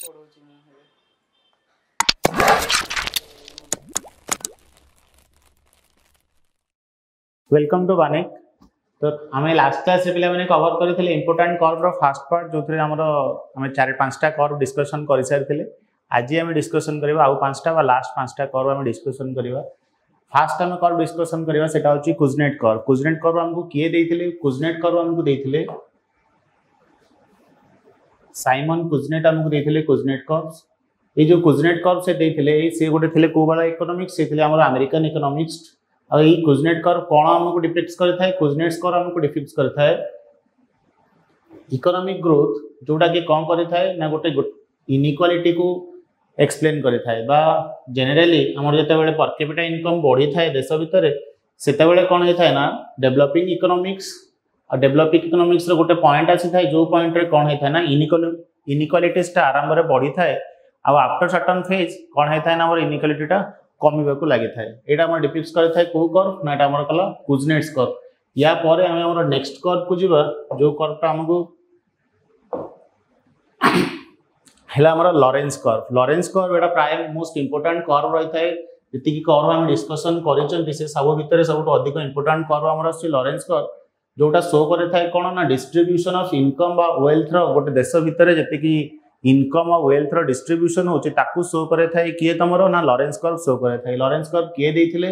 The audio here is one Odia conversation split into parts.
ପଢ଼ଉଛି ମୁଁ ଏବେ। Welcome to ବାନିକ। ତ ଆମେ ଲାଷ୍ଟ କ୍ଲାସ୍ରେ ପିଲାମାନେ କଭର କରିଥିଲେ ଇମ୍ପୋର୍ଟାଣ୍ଟ କର୍ଭର ଫାର୍ଷ୍ଟ ପାର୍ଟ, ଯେଉଁଥିରେ ଆମର ଆମେ 4-5ଟା କର୍ଭ ଡିସ୍କସନ୍ କରିସାରିଥିଲେ। ଆଜି ଆମେ ଡିସ୍କସନ୍ କରିବା ଆଉ 5ଟା ବା ଲାଷ୍ଟ 5ଟା କର୍ଭ ଆମେ ଡିସ୍କସନ୍ କରିବା। ଫାର୍ଷ୍ଟ ଆମେ କର୍ଭ ଡିସ୍କସନ୍ କରିବା, ସେଟା ହେଉଛି କୁଜନେଟ୍ କର୍ଭ। କୁଜନେଟ୍ କର୍ଭ ଆମକୁ କିଏ ଦେଇଥିଲେ? କୁଜନେଟ୍ କର୍ଭ ଆମକୁ ଦେଇଥିଲେ ସାଇମନ୍ କୁଜନେଟ୍, ଆମକୁ ଦେଇଥିଲେ କୁଜନେଟ୍ କର୍ଭ। ଏଇ ଯେଉଁ କୁଜନେଟ୍ କର୍ଭ ସେ ଦେଇଥିଲେ, ସେ ଗୋଟେ ଥିଲେ କେଉଁ ବାଲା ଇକୋନୋମିକ୍ସ? ସେ ଥିଲେ ଆମର ଆମେରିକାନ ଇକୋନୋମିକ୍ସ। ଆଉ ଏଇ କୁଜନେଟ୍ କର୍ଭ କ'ଣ ଆମକୁ ଡିପିକ୍ଟ କରିଥାଏ? କୁଜନେଟ୍ସ କର୍ଭ ଆମକୁ ଡିପିକ୍ଟ କରିଥାଏ ଇକୋନୋମିକ୍ ଗ୍ରୋଥ, ଯୋଉଟାକି କ'ଣ କରିଥାଏ ନା ଗୋଟେ ଇନଇକ୍ୱାଲିଟିକୁ ଏକ୍ସପ୍ଲେନ୍ କରିଥାଏ। ବା ଜେନେରାଲି ଆମର ଯେତେବେଳେ ପର କ୍ୟାପିଟା ଇନକମ୍ ବଢ଼ିଥାଏ ଦେଶ ଭିତରେ, ସେତେବେଳେ କ'ଣ ହେଇଥାଏ ନା ଡେଭଲପିଂ ଇକୋନୋମିକ୍ସ ଆଉ ଡେଭଲପିଂ ଇକୋନୋମିକ୍ସର ଗୋଟେ ପଏଣ୍ଟ ଆସିଥାଏ, ଯେଉଁ ପଏଣ୍ଟରେ କ'ଣ ହେଇଥାଏ ନା ଇନଇକ୍ୱାଲିଟିଜଟା ଆରମ୍ଭରେ ବଢ଼ିଥାଏ ଆଉ ଆଫ୍ଟର ସର୍ଟନ୍ ଫେଜ୍ କ'ଣ ହେଇଥାଏ ନା ଆମର ଇନଇକ୍ୱାଲିଟିଟା କମିବାକୁ ଲାଗିଥାଏ। ଏଇଟା ଆମର ଡିପିକ୍ଟ କରିଥାଏ କେଉଁ କର୍ଭ ନା ଏଇଟା ଆମର କଲା କୁଜନେଟ୍ସ କର୍ଭ। ୟା ପରେ ଆମେ ଆମର ନେକ୍ସଟ କର୍ଭକୁ ଯିବା, ଯେଉଁ କର୍ଭଟା ଆମକୁ ହେଲା ଆମର ଲରେନ୍ସ କର୍ଭ। ଲରେନ୍ସ କର୍ଭ ଏଇଟା ପ୍ରାୟ ମୋଷ୍ଟ ଇମ୍ପୋର୍ଟାଣ୍ଟ କର୍ଭ ରହିଥାଏ। ଯେତିକି କର୍ଭ ଆମେ ଡିସ୍କସନ୍ କରିଛନ୍ତି, ସେ ସବୁ ଭିତରେ ସବୁଠୁ ଅଧିକ ଇମ୍ପୋର୍ଟାଣ୍ଟ କର୍ଭ ଆମର ଆସୁଛି ଲରେନ୍ସ କର୍ଭ, ଯୋଉଟା ଶୋ କରିଥାଏ କ'ଣ ନା ଡିଷ୍ଟ୍ରିବ୍ୟୁସନ୍ ଅଫ୍ ଇନକମ୍ ବା ୱେଲ୍ଥର। ଗୋଟେ ଦେଶ ଭିତରେ ଯେତିକି ଇନକମ୍ ଆଉ ୱେଲ୍ଥର ଡିଷ୍ଟ୍ରିବ୍ୟୁସନ୍ ହେଉଛି, ତାକୁ ଶୋ କରିଥାଏ କିଏ ତମର ନା ଲରେନ୍ସ କର୍ଭ ଶୋ କରିଥାଏ। ଲରେନ୍ସ କର୍ଭ କିଏ ଦେଇଥିଲେ?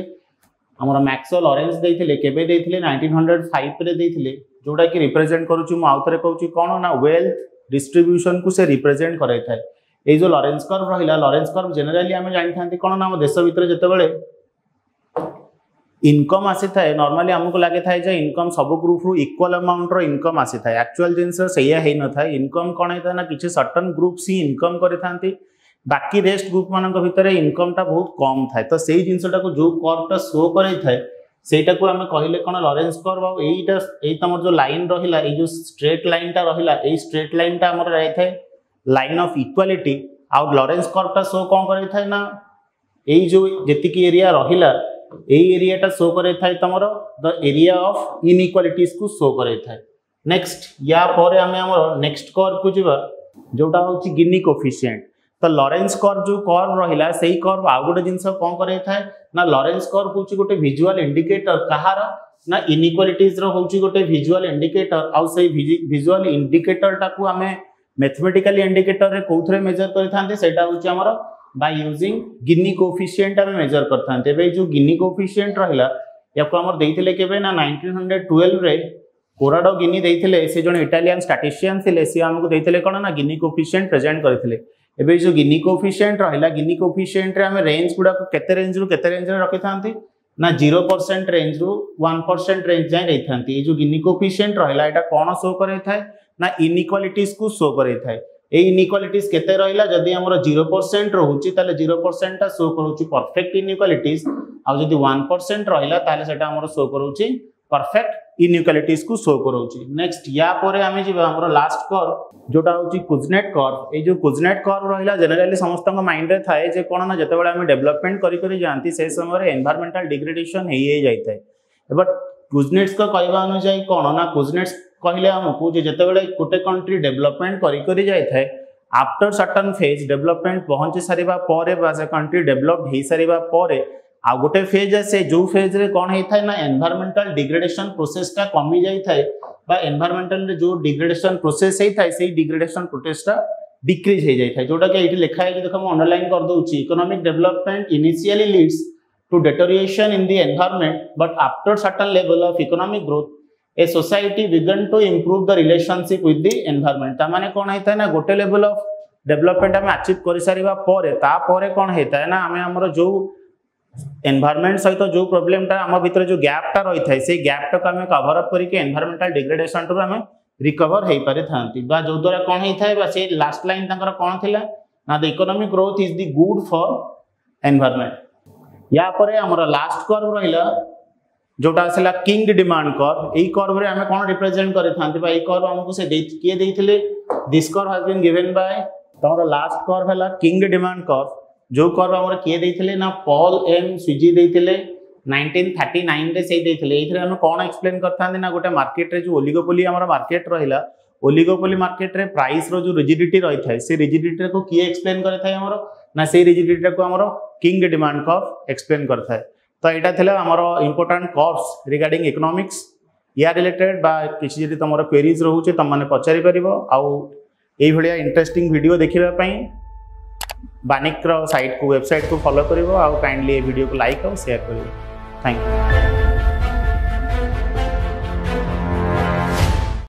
ଆମର ମ୍ୟାକ୍ସ ଲରେନ୍ସ ଦେଇଥିଲେ। କେବେ ଦେଇଥିଲେ? 1905ରେ ଦେଇଥିଲେ। ଯୋଉଟାକି ରିପ୍ରେଜେଣ୍ଟ କରୁଛି, ମୁଁ ଆଉଥରେ କହୁଛି, କ'ଣ ନା ୱେଲ୍ଥ ଡିଷ୍ଟ୍ରିବ୍ୟୁସନକୁ ସେ ରିପ୍ରେଜେଣ୍ଟ କରାଇଥାଏ। ଏଇ ଯେଉଁ ଲରେନ୍ସ କର୍ଭ ରହିଲା, ଲରେନ୍ସ କର୍ଭ ଜେନେରାଲି ଆମେ ଜାଣିଥାନ୍ତି କ'ଣ ନା ଆମ ଦେଶ ଭିତରେ ଯେତେବେଳେ ଇନକମ୍ ଆସିଥାଏ, ନର୍ମାଲି ଆମକୁ ଲାଗିଥାଏ ଯେ ଇନକମ୍ ସବୁ ଗ୍ରୁପରୁ ଇକ୍ୱାଲ୍ ଆମାଉଣ୍ଟର ଇନକମ୍ ଆସିଥାଏ। ଆକ୍ଚୁଆଲ ଜିନିଷ ସେଇଆ ହେଇନଥାଏ। ଇନକମ୍ କ'ଣ ହେଇଥାଏ ନା କିଛି ସର୍ଟନ୍ ଗ୍ରୁପ୍ସ ହିଁ ଇନକମ୍ କରିଥାନ୍ତି, ବାକି ରେଷ୍ଟ ଗ୍ରୁପମାନଙ୍କ ଭିତରେ ଇନକମ୍ଟା ବହୁତ କମ୍ ଥାଏ। ତ ସେଇ ଜିନିଷଟାକୁ ଯେଉଁ କର୍ଭଟା ଶୋ କରାଇଥାଏ, ସେଇଟାକୁ ଆମେ କହିଲେ କ'ଣ ଲରେନ୍ସ କର୍ଭ। ଆଉ ଏଇଟା ଏଇ ତମର ଯେଉଁ ଲାଇନ୍ ରହିଲା, ଏଇ ଯେଉଁ ଷ୍ଟ୍ରେଟ୍ ଲାଇନ୍ଟା ରହିଲା, ଏଇ ଷ୍ଟ୍ରେଟ୍ ଲାଇନ୍ଟା ଆମର ରହିଥାଏ ଲାଇନ୍ ଅଫ୍ ଇକ୍ୱାଲିଟି। ଆଉ ଲରେନ୍ସ କର୍ଭଟା ଶୋ କ'ଣ କରାଇଥାଏ ନା ଏଇ ଯେଉଁ ଯେତିକି ଏରିଆ ରହିଲା, ଏଇ ଏରିଆଟା ଶୋ କରାଇଥାଏ ତମର the area of ଇନଇକ୍ୱାଲିଟିଜକୁ show କରାଇଥାଏ। Next, ୟା ପରେ ଆମେ ଆମର ନେକ୍ସଟ କର୍ଭକୁ ଯିବା, ଯୋଉଟା ହେଉଛି ଗିନି କୋଫିସିଏଣ୍ଟ। ତ ଲରେନ୍ସ କର୍ଭ ଯେଉଁ କର୍ଭ ରହିଲା, ସେଇ କର୍ଭ ଆଉ ଗୋଟେ ଜିନିଷ କ'ଣ କରାଇଥାଏ ନା ଲରେନ୍ସ କର୍ଭ ହେଉଛି ଗୋଟେ ଭିଜୁଆଲ ଇଣ୍ଡିକେଟର କାହାର ନା ଇନଇକ୍ୱାଲିଟିଜର ହେଉଛି ଗୋଟେ ଭିଜୁଆଲ ଇଣ୍ଡିକେଟର। ଆଉ ସେଇ ଭିଜୁଆଲ ଇଣ୍ଡିକେଟରଟାକୁ ଆମେ ମ୍ୟାଥମେଟିକାଲି ଇଣ୍ଡିକେଟରରେ କୋଉଥିରେ ମେଜର କରିଥାନ୍ତି? ସେଇଟା ହେଉଛି ଆମର ବାଇ ୟୁଜିଂ ଗିନି କୋଫିସିଏଣ୍ଟ ଆମେ ମେଜର କରିଥାନ୍ତି। ଏବେ ଏଇ ଯେଉଁ ଗିନି କୋଫିସିଏଣ୍ଟ ରହିଲା, ୟାକୁ ଆମର ଦେଇଥିଲେ କେବେ ନା 1912ରେ କୋରାଡୋ ଗିନି ଦେଇଥିଲେ। ସେ ଜଣେ ଇଟାଲିଆନ ଷ୍ଟାଟିଷ୍ଟିଆନ ଥିଲେ। ସିଏ ଆମକୁ ଦେଇଥିଲେ କ'ଣ ନା ଗିନି କୋଫିସିଏଣ୍ଟ ପ୍ରେଜେଣ୍ଟ କରିଥିଲେ। ଏବେ ଏଇ ଯେଉଁ ଗିନି କୋଫିସିଏଣ୍ଟ ରହିଲା, ଗିନି କୋଫିସିଏଣ୍ଟରେ ଆମେ ରେଞ୍ଜ ଗୁଡ଼ାକୁ କେତେ ରେଞ୍ଜରୁ କେତେ ରେଞ୍ଜରେ ରଖିଥାନ୍ତି ନା 0% ରେଞ୍ଜରୁ 1% ରେଞ୍ଜ ଯାଏଁ ଦେଇଥାନ୍ତି। ଏଇ ଯେଉଁ ଗିନି କୋଫିସିଏଣ୍ଟ ରହିଲା, ଏଇଟା କ'ଣ ଶୋ କରାଇଥାଏ ନା ଇନଇକ୍ୱାଲିଟିଜକୁ ଶୋ କରାଇଥାଏ। ଏଇ ଇନଇକ୍ୱାଲିଟିଜ କେତେ ରହିଲା? ଯଦି ଆମର 0% ରହୁଛି, ତାହେଲେ 0%ଟା ଶୋ କରୁଛି ପରଫେକ୍ଟ ଇନଇକ୍ୱାଲିଟିଜ। ଆଉ ଯଦି 1% ରହିଲା, ତାହେଲେ ସେଟା ଆମର ଶୋ କରୁଛି ପରଫେକ୍ଟ ଇନଇକ୍ୱାଲିଟିଜକୁ ଶୋ କରୁଛି। ନେକ୍ସଟ, ୟା ପରେ ଆମେ ଯିବା ଆମର ଲାଷ୍ଟ କର୍ଭ, ଯୋଉଟା ହେଉଛି କୁଜନେଟ୍ କର୍ଭ। ଏଇ ଯେଉଁ କୁଜନେଟ୍ କର୍ଭ ରହିଲା, ଜେନେରାଲି ସମସ୍ତଙ୍କ ମାଇଣ୍ଡରେ ଥାଏ ଯେ କ'ଣ ନା ଯେତେବେଳେ ଆମେ ଡେଭଲପମେଣ୍ଟ କରି କରି ଯାଆନ୍ତି, ସେ ସମୟରେ ଏନଭାରମେଣ୍ଟାଲ ଡିଗ୍ରେଡେସନ ହେଇ ହେଇ ଯାଇଥାଏ। ବଟ୍ କୁଜନେଟ୍ସଙ୍କ କହିବା ଅନୁଯାୟୀ କ'ଣ ନା କୁଜନେଟ୍ସ କହିଲେ ଆମକୁ ଯେ ଯେତେବେଳେ ଗୋଟେ କଣ୍ଟ୍ରି ଡେଭଲପମେଣ୍ଟ କରି କରି ଯାଇଥାଏ, ଆଫ୍ଟର ସର୍ଟନ୍ ଫେଜ୍ ଡେଭଲପମେଣ୍ଟ ପହଞ୍ଚି ସାରିବା ପରେ ବା ସେ କଣ୍ଟ୍ରି ଡେଭଲପ ହେଇସାରିବା ପରେ ଆଉ ଗୋଟେ ଫେଜ୍ ଆସେ, ଯେଉଁ ଫେଜ୍ରେ କ'ଣ ହେଇଥାଏ ନା ଏନଭାରମେଣ୍ଟାଲ ଡିଗ୍ରେଡେସନ ପ୍ରୋସେସଟା କମି ଯାଇଥାଏ ବା ଏନଭାରମେଣ୍ଟାଲରେ ଯେଉଁ ଡିଗ୍ରେଡେସନ ପ୍ରୋସେସ ହେଇଥାଏ, ସେଇ ଡିଗ୍ରେଡେସନ ପ୍ରୋସେସଟା ଡିକ୍ରିଜ୍ ହେଇଯାଇଥାଏ। ଯୋଉଟାକି ଏଇଠି ଲେଖା ହେଇଛି, ଦେଖ, ମୁଁ ଅଣ୍ଡରଲାଇନ୍ କରିଦେଉଛି: "Economic development initially leads to deterioration in the environment, but after certain level of economic growth, a society began to improve the relationship with the environment." ତା ମାନେ କ'ଣ ହେଇଥାଏ ନା ଗୋଟେ ଲେଭେଲ ଅଫ୍ ଡେଭଲପମେଣ୍ଟ ଆମେ ଆଚିଭ୍ କରିସାରିବା ପରେ, ତାପରେ କ'ଣ ହେଇଥାଏ ନା ଆମେ ଆମର ଯୋଉ ଏନଭାରମେଣ୍ଟ ସହିତ ଯୋଉ ପ୍ରୋବ୍ଲେମଟା ଆମ ଭିତରେ ଯୋଉ ଗ୍ୟାପଟା ରହିଥାଏ, ସେଇ ଗ୍ୟାପଟାକୁ ଆମେ କଭର ଅପ୍ କରିକି ଏନଭାରମେଣ୍ଟାଲ ଡିଗ୍ରେଡେସନରୁ ଆମେ ରିକଭର ହେଇପାରିଥାନ୍ତି। ବା ଯୋଉଦ୍ୱାରା କ'ଣ ହେଇଥାଏ ବା ସେଇ ଲାଷ୍ଟ ଲାଇନ୍ ତାଙ୍କର କ'ଣ ଥିଲା ନା "The economic growth is the good for environment." ୟା ପରେ ଆମର ଲାଷ୍ଟ କର୍ଭ ରହିଲା, ଯୋଉଟା ଆସିଲା କିଙ୍କ୍ଡ ଡିମାଣ୍ଡ କର୍ଭ। ଏଇ କର୍ଭରେ ଆମେ କ'ଣ ରିପ୍ରେଜେଣ୍ଟ କରିଥାନ୍ତି ବା ଏଇ କର୍ଭ ଆମକୁ ସେ ଦେଇ କିଏ ଦେଇଥିଲେ? This curve has been given by, ତମର ଲାଷ୍ଟ କର୍ଭ ହେଲା କିଙ୍କ୍ଡ ଡିମାଣ୍ଡ କର୍ଭ। ଯୋଉ କର୍ଭ ଆମର କିଏ ଦେଇଥିଲେ ନା ପଲ୍ ଏମ୍ ସୁଇଜି ଦେଇଥିଲେ, 1939ରେ ସେଇ ଦେଇଥିଲେ। ଏଇଥିରେ ଆମେ କ'ଣ ଏକ୍ସପ୍ଲେନ୍ କରିଥାନ୍ତି ନା ଗୋଟେ ମାର୍କେଟରେ ଯୋଉ ଓଲିଗୋପୋଲି ଆମର ମାର୍କେଟ ରହିଲା, ଓଲିଗୋପୋଲି ମାର୍କେଟରେ ପ୍ରାଇସ୍ର ଯେଉଁ ରିଜିଡିଟି ରହିଥାଏ, ସେ ରିଜିଡିଟିଟାକୁ କିଏ ଏକ୍ସପ୍ଲେନ୍ କରିଥାଏ ଆମର ନା ସେଇ ରିଜିଡିଟିଟାକୁ ଆମର କିଙ୍କ ଡିମାଣ୍ଡ କର୍ଭ ଏକ୍ସପ୍ଲେନ୍ କରିଥାଏ। ତ ଏଇଟା ଥିଲା ଆମର ଇମ୍ପୋର୍ଟାଣ୍ଟ କର୍ଭସ୍ ରିଗାର୍ଡିଂ ଇକୋନୋମିକ୍ସ। ୟା ରିଲେଟେଡ୍ ବା କିଛି ଯଦି ତୁମର କ୍ୱେରିଜ୍ ରହୁଛି, ତୁମମାନେ ପଚାରିପାରିବ। ଆଉ ଏଇଭଳିଆ ଇଣ୍ଟରେଷ୍ଟିଂ ଭିଡ଼ିଓ ଦେଖିବା ପାଇଁ ବାନିକ୍ର ସାଇଟ୍କୁ, ୱେବସାଇଟ୍କୁ ଫଲୋ କରିବ ଆଉ କାଇଣ୍ଡଲି ଏ ଭିଡ଼ିଓକୁ ଲାଇକ୍ ଆଉ ସେୟାର କରିବ। Thank you.